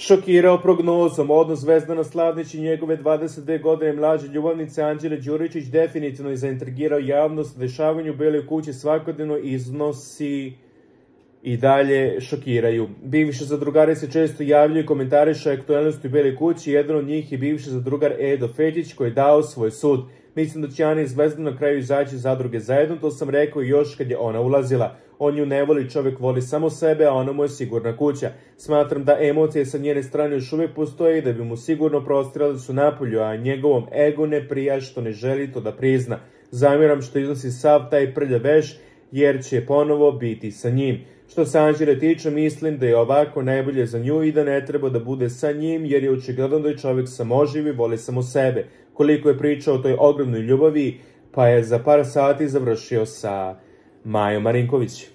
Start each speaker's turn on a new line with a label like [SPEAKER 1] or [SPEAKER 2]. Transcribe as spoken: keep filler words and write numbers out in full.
[SPEAKER 1] šokirao prognozom. Odnos Zvezdana Slavnić i njegove dvadeset dve godine mlađe ljubavnice Anđele Đuričić definitivno je zaintrigirao javnost. Dešavanje u Beloj kući svakodnevno iznosi i dalje šokiraju. Bivši zadrugari se često javljaju i komentarišu aktualnosti u Beloj kući. Jedan od njih je bivši zadrugar Edo Fetić koji je dao svoj sud. Mislim da će Ana i Zvezdan na kraju izaći iz zadruge zajedno, to sam rekao još kad je ona ulazila. On ju ne voli, čovjek voli samo sebe, a ona mu je sigurna kuća. Smatram da emocije sa njene strane još uvijek postoje i da bi mu sigurno prostirali da su napolju, a njegovom ego ne prija što ne želi to da prizna. Zamjeram što iznosi sav taj prljav veš, jer će ponovo biti sa njim. Što se Anđele tiče, mislim da je ovako najbolje za nju i da ne treba da bude sa njim, jer je očigledno da je čovjek samoživ i voli samo sebe. Koliko je pričao o toj ogromnoj ljubavi, pa je za par sati završio sa Majom Marinković.